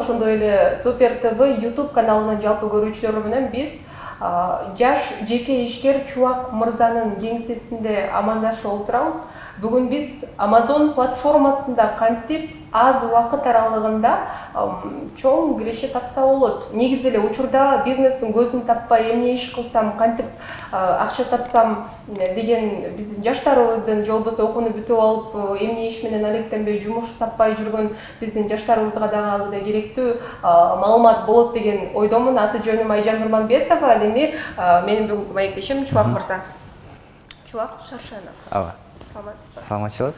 ошондой эле Супер ТВ YouTube каналынын жалпы көрүүчүлөрү менен биз жаш жеке ишкер Чубак мырзанын кеңсесинде амандашып отурабыз. Бүгүн биз Amazon платформасында кантип аз убакыт аралыгында чоң киреше тапса болот. Негизи эле учурда бизнестин көзүн таппай эмне иш кылсам, кантип акча тапсам деген биздин жаштарыбыздын, же болбосо окууну бүтүп алып эмне иш менен алектенбей жумуш таппай жүргөн биздин жаштарыбызга дагы алгыда керектүү маалымат болот деген ойдомун. Аты жөнүм Айжан Нурманбетова, ал эми менин бүгүнкү маектешим Чубак мырза. Чубак Шаршанов. Ооба. Саламатчылык.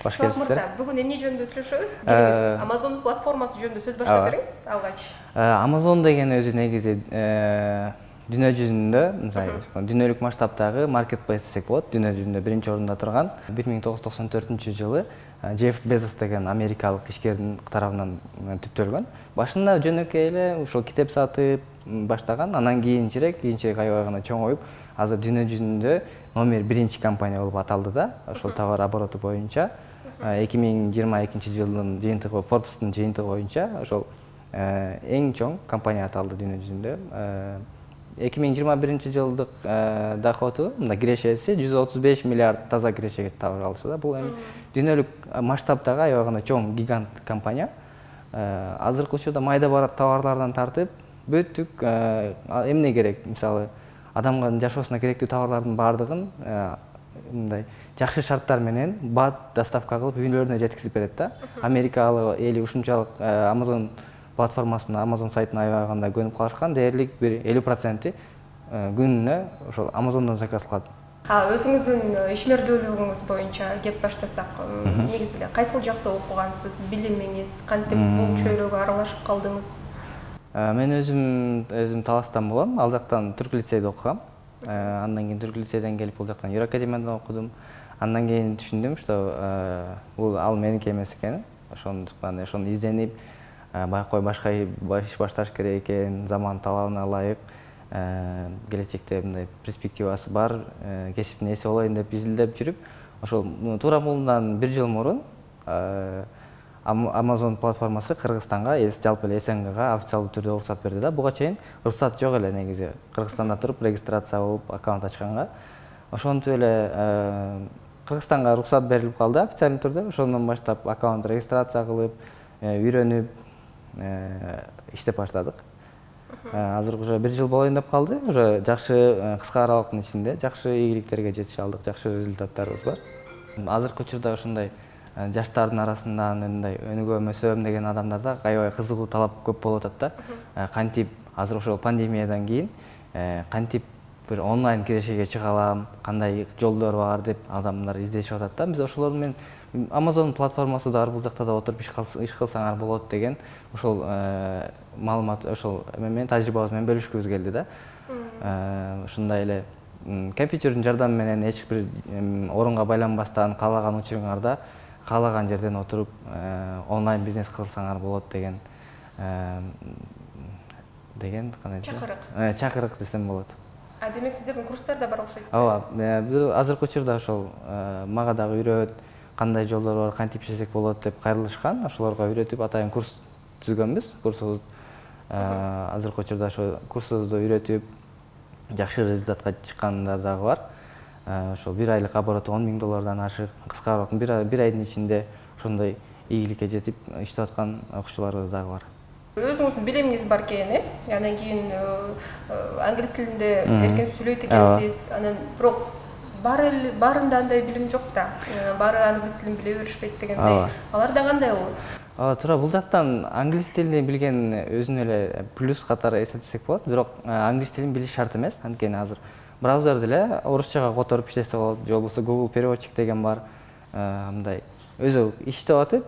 Кош келипсиздер. Бүгүн эмне жөнүндө сүйлөшөбүз? Келиңиз. Amazon платформасы жөнүндө сөз баштап бериңиз алгач. Amazon деген өзү негизи дүйнө жүзүндө, дүйнөлүк масштабтагы маркетплейс десек болот. Дүйнө жүзүндө биринчи орунда турган 1994-жылы Джефф Безос деген америкалык ишкердин тарабынан түптөлгөн. Башында жөнөкөй эле ошол китеп сатып баштаган, анан кийинчерээк аябай гана чоңоюп, азыр дүйнө жүзүндө номер 1 компания болуп аталды да. Ошол товар обороту боюнча 2022-жылдын жыйынтыгы, Forbes'тун жыйынтыгы боюнча ошол эң чоң компания аталды дүйнө жүзүндө. 2021-жылдык доходу, мында кирешеси 135 миллиард таза кирешеге табара алышы да. Бул эми дүйнөлүк масштабтагы аябай гана чоң гигант компания. Азыркы учурда майда барат товарлардан тартып, бүттүк эмне керек, мисалы адамга жашоосуна керектүү товарлардын баардыгын мындай жакшы шарттар менен бат доставка кылып үйлөрүнө жеткизип берет да. Америкалык эли ушунчалык Amazon платформасына, Amazon сайтына аябай гана көнүп калышкан, дээрлик бир 50% күнүнө ошол Amazon'дон заказ кылат. Өзүңүздүн ишмердүүлүгүңүз боюнча кеп баштасак, негизи эле кайсыл жакта окугансыз, билимиңиз кантип бул чөйрөгө аралашып калдыңыз? Мен өзүм Таластан болом, ал жактан түрк лицейде окугам. Андан кийин түрк лицейден келип бул жактан Юр академияда окудум. Андан кийин түшүндүм, что бул ал меники эмес экенин. Ошондуктан ошону изденип, байкой башка иш башташ керек экен, заман талабына ылайык, келечекте мындай перспективасы бар кесиптин ээси болоюн деп изилдеп жүрүп, ошол туура мындан 1 жыл мурун Amazon платформасы Кыргызстанга, жалпы эле СНГга официалдуу түрдө уруксат берди да. Буга чейин уруксат жок эле негизи. Кыргызстанда туруп регистрация болуп аккаунт ачканга. Ошентип эле Кыргызстанга уруксат берилип калды официалдуу түрдө. Ошондон баштап аккаунт регистрация кылып, үйрөнүп иштеп баштадык. Азыр уже 1 жыл болоюн деп калды. Уже жакшы кыска аралыктын ичинде жакшы ийгиликтерге жетише алдык, жакшы результаттарыбыз бар. Азыркы учурда ушундай жаштардын арасында мындай өнүгөм, өсөм деген адамдарда аябай кызыгуу талап көп болуп атат да. Кантип азыр ошол пандемиядан кийин кантип бир онлайн кирешеге чыга алам, кандай жолдор бар деп адамдар издешип атат да. Биз ошолор менен Amazon платформасы да бар, бул жакта да отуруп иш кылсаңар болот деген ошол маалымат, ошол менен тажрыйбабыз менен бөлүшкүбүз келди да. Ушундай эле компьютердин жардамы менен эч бир орунга байланбастан каалаган учуруңарда каалаган жерден отуруп онлайн бизнес кылсаңар болот деген чакырык десем болот. Демек сиздердин курстар да бар окшойт. Ооба, азыркы учурда ошол мага дагы үйрөт, кандай жолдор бар, кантип иштесек болот деп кайрылышкан. Ошолорго үйрөтүп атайын курс түзгөнбүз. Курсубуз азыркы учурда ошо курсубузду үйрөтүп жакшы результатка чыккандар дагы бар. Ошол 1 айлык обороту $10,000 ашык, кыска аралыкта 1 айдын ичинде ошондой ийгиликке жетип иштеп аткан окуучуларыбыз дагы бар. Өзүңүздүн билимиңиз бар экен, андан кийин англис тилинде эркен сүйлөйт экенсиз. Анан бирок баарында андай билим жок да. Баары англис тилин биле беришпейт дегендей. Аларда кандай болот? Туура, бул жактан англис тилин билген өзүнүн эле плюс катары эсептесек болот, бирок англис тилин билиш шарт эмес. Анткени азыр браузерди эле орусчага которуп иштесе болот, же болбосо Google переводчик деген бар. Мындай өзү иштеп атып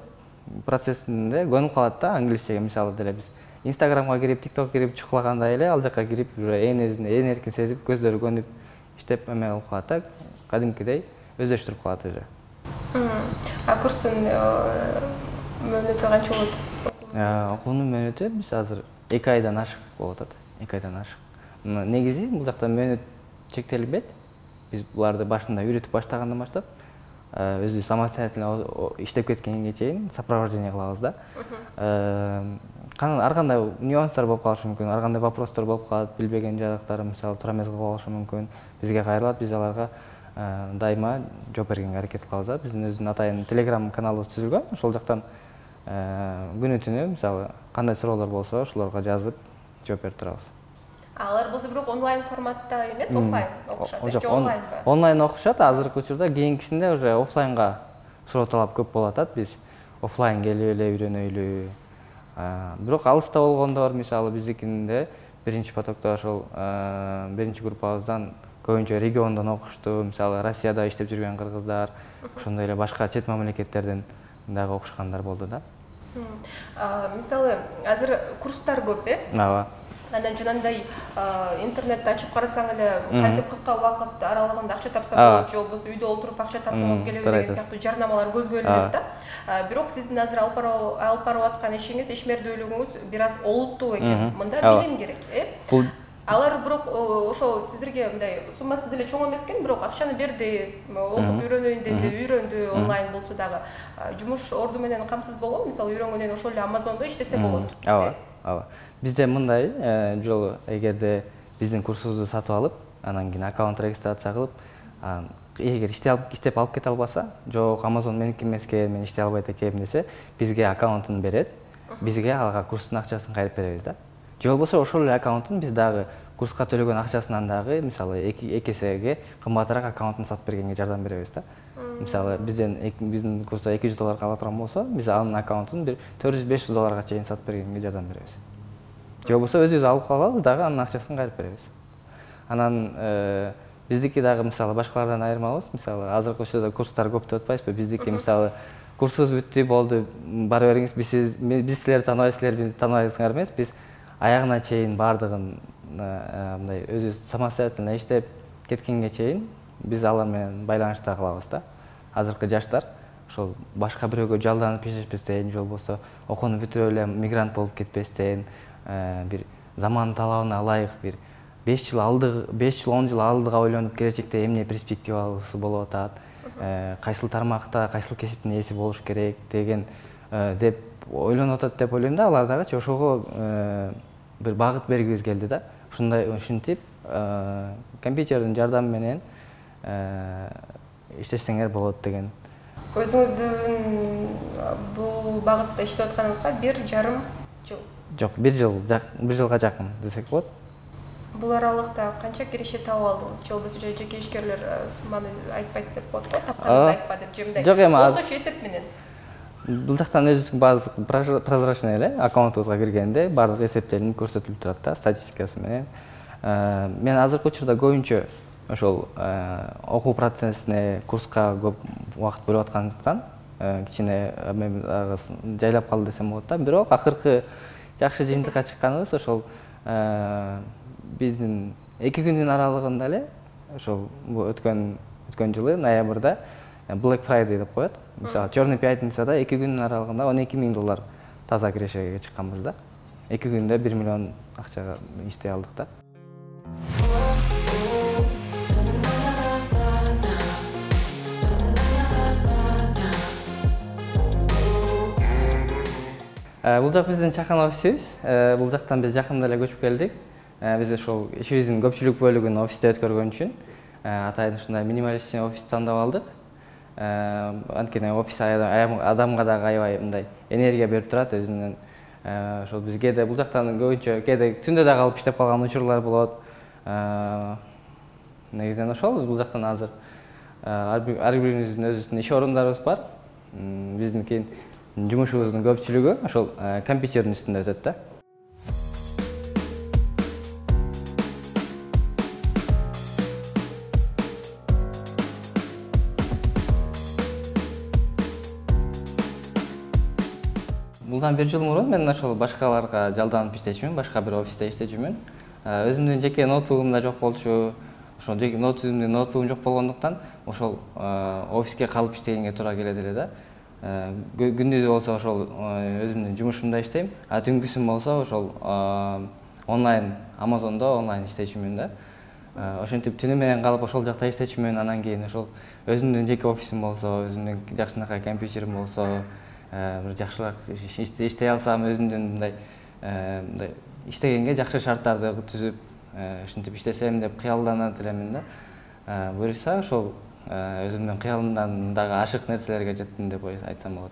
процессинде көнүп калат да англисчеге. Мисалы деле биз Instagramга кирип, TikTok кирип чуклагандай эле ал жакка кирип, уже ээн эркин сезип, көздөрү көнүп иштеп эме болуп калат да, кадимкидей өздөштүрүп калат уже. Курстун мөөнөтү канча болот? Окуунун мөөнөтү биз азыр 2 айдан ашык болуп атат. 2 айдан ашык. Негизи бул жакта мөөнөт чектелбейт. Биз буларды башында үйрөтүп баштагандан баштап өзү самостоятельно иштеп кеткенге чейин сопровождение кылабыз да. ар кандай нюанстар болуп калышы мүмкүн, ар кандай вопростор болуп калат, билбеген жагаттары мисалы туура эмес калышы мүмкүн. Бизге кайрылат, биз аларга дайыма жооп бергенге аракет кылабыз да. Биздин өзүнүн атайын Telegram каналыбыз түзүлгөн. Ошол жактан күнү түнү мисалы кандай суроолор болсо ошолорго жазып жооп берип турабыз. Алар болсо бирок онлайн форматта эмес, офлайн окушат, же онлайнбы? Онлайн окушат, азыркы учурда кийинкисинде уже офлайнга суроо талап көп болуп атат. Биз офлайн келип эле үйрөнөйлү. Бирок алыста болгондор мисалы биздикинде биринчи потокто ошол биринчи группабыздан көбүнчө региондон окушту. Мисалы Россияда иштеп жүргөн кыргыздар, ошондой эле башка чет мамлекеттерден дагы окушкандар болду да. Мисалы азыр курстар көп, Ооба. Анан жанагындай интернетти ачып карасаң эле кантип кыска убакыт аралыгында акча тапса болот, же болбосо үйдө отуруп акча тапкыңыз келеби деген сыяктуу жарнамалар көзгө илинет да. Бирок сиздин азыр алып барып аткан ишиңиз, ишмердүүлүгүңүз бир аз олуттуу экен. Мында билим керек, Алар бирок ошо сиздерге мындай суммасы деле чоң эмес экен, бирок акчаны берди, окуп үйрөнөйүн деди, үйрөндү, онлайн болсо дагы жумуш орду менен камсыз болгонбу? Мисалы үйрөнгөндөн ошол эле Amazon'до иштесе болот. Ооба. Бизде мындай жолу эгерде биздин курсубузду сатып алып, анан кийин аккаунт регистрация кылып, эгер иштеп алып кете албаса, жок Amazon меники эмес экен, мен иштей албайт экенмин десе, бизге аккаунтун берет, бизге ага курстун акчасын кайрып беребиз да. Же болбосо ошол эле аккаунтун биз дагы курска төлөгөн акчасынан дагы мисалы эки эсеге кымбатыраак аккаунтун сатып бергенге жардам беребиз да. Мисалы биздин курста $200 ала турган болсо, биз анын аккаунтун бир $400-500 чейин сатып бергенге жардам беребиз. Же болбосо өзүбүз алып калабыз дагы анын акчасын кайрып беребиз. Анан биздики дагы мисалы башкалардан айырмабыз. Мисалы азыркы учурда курстар көп деп атпайбызбы? Биздики мисалы курсубуз бүттү, болду, бара бериңиз, биз силерди тааныбайбыз, силер бизди тааныбайсыңар эмес. Биз аягына чейин бардыгын мындай өзүбүз самостоятельно иштеп кеткенге чейин биз алар менен байланышта калабыз да. Азыркы жаштар ошол башка бирөөгө жалданып иштешпестен, же болбосо окууну бүтүрүп эле мигрант болуп кетпестен, бир заман талабына ылайык бир 5 жыл алдыга 10 жыл алдыга ойлонуп келечекте эмне перспективасы болуп атат, кайсыл тармакта, кайсыл кесиптин ээси болуш керек деген деп ойлонуп атат деп ойлойм да. Алар дагычы ошого бир багыт бергибиз келди да. Ушинтип компьютердин жардамы менен иштесеңер болот деген. Өзүңүздүн бул багытта иштеп атканыңызга 1,5 жыл. Жок, 1 жылга жакын десек болот. Бул аралыкта канча киреше табып алдыңыз? Же болбосо жеке ишкерлер сумманы айтпайт деп коет го, тапканын айтпа деп же мындай. Жок, эми орточо эсеп менен. Бул жактан өзүбүздүн баардык прозрачный эле аккаунтубузга киргенде баардык эсептелинип көрсөтүлүп турат да, статистикасы менен. Мен азыркы учурда көбүнчө ошол окуу процессине, курска көп убакыт бөлүп аткандыктан кичине жайлап калды десем болот да. Бирок акыркы жакшы жыйынтыкка чыкканыбыз ошол биздин 2 күндүн аралыгында эле ошол өткөн жылы ноябрда Black Friday деп коет. Мисалы, Чёрный пятницада 2 күндүн аралыгында $12,000 таза кирешеге чыкканбыз да. 2 күндө 1 миллион акчага иштей алдык да. Бул жак биздин чакан офисибиз. Бул жактан биз жакында эле көчүп келдик. Биз ошол ишибиздин көпчүлүк бөлүгүн офисте өткөргөн үчүн атайын ушундай минималистичный офис тандап алдык. Анткени офис адамга дагы аябай мындай энергия берип турат өзүнүн. Ошол биз кээде бул жактан көбүнчө кээде түндө да калып иштеп калган учурлар болот. Негизинен ошол бул жактан азыр ар бирибиздин өзүбүздүн иш орундарыбыз бар. Биздин жумушубуздун көпчүлүгү ошол компьютердин үстүндө өтөт да. Булдан 1 жыл мурун мен ошол башкаларга жалданып иштечүмүн, башка бир офисте иштечүмүн. Өзүмдүн жеке ноутбугум да жок болчу. Ошол жеке ноутбугум жок болгондуктан ошол офиске калып иштегенге туура келет эле да. Күндүзү болсо ошол өзүмдүн жумушумда иштейм, а түнкүсүн болсо ошол онлайн Amazon'до онлайн иштечүмүн да. Ошентип түнү менен калып ошол жакта иштечүмүн, анан кийин ошол өзүмдүн жеке офисим болсо, өзүмдүн жакшынакай компьютерим болсо, бир жакшыраак иштей алсам, өзүмдүн мындай мындай иштегенге жакшы шарттарды түзүп, ушинтип иштесем деп кыялданат элемин да. Буюрса ошол өзүмдүн кыялымдан дагы ашык нерселерге жеттим деп айтсам болот.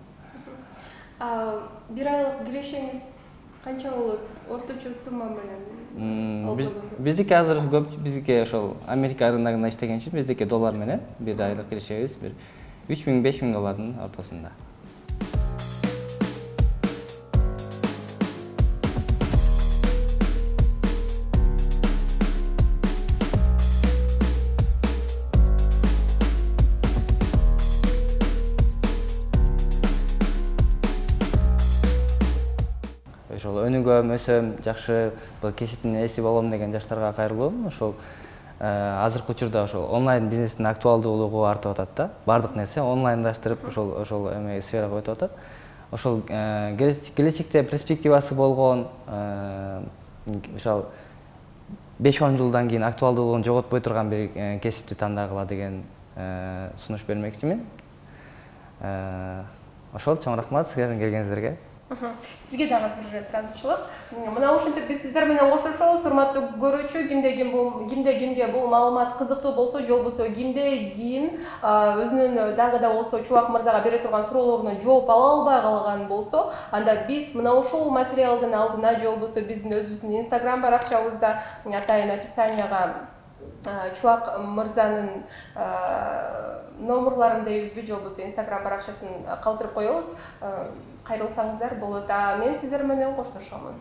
Бир айлык кирешеңиз канча болот? Орточо сумма менен? Биздики азыр көп, биздики ошол Америка рыногунда иштеген үчүн биздики доллар менен бир айлык кирешебиз бир 3000–5000 доллардын ортосунда. Ошол өнүгөм, өсөм, жакшы бул кесиптин ээси болом деген жаштарга кайрылуум. Ошол азыркы учурда ошол онлайн бизнестин актуалдуулугу артып атат да. Бардык нерсе онлайндаштырып ошол эме сферага өтүп атат. Ошол келечекте перспективасы болгон, ошол 5–10 жылдан кийин актуалдуулугун жоготпой турган бир кесипти тандагыла деген сунуш бермекчимин. Ошол чоң рахмат силердин келгениңиздерге. Сизге дагы бир ыраазычылык. Мына ушинтип биз сиздер менен коштошобуз, урматтуу көрүүчү. Кимге бул маалымат кызыктуу болсо, же болбосо кимде кийин өзүнүн дагы да болсо Чубак мырзага бере турган суроолоруна жооп ала албай калган болсо, анда биз мына ушул материалдын алдына же болбосо биздин өзүбүздүн Instagram баракчабызда атайын описанияга Чубак мырзанын номерларын дейбизби, же болбосо Instagram баракчасын калтырып коебуз. Кайрылсаңыздар болот. Мен сиздер менен коштошомун.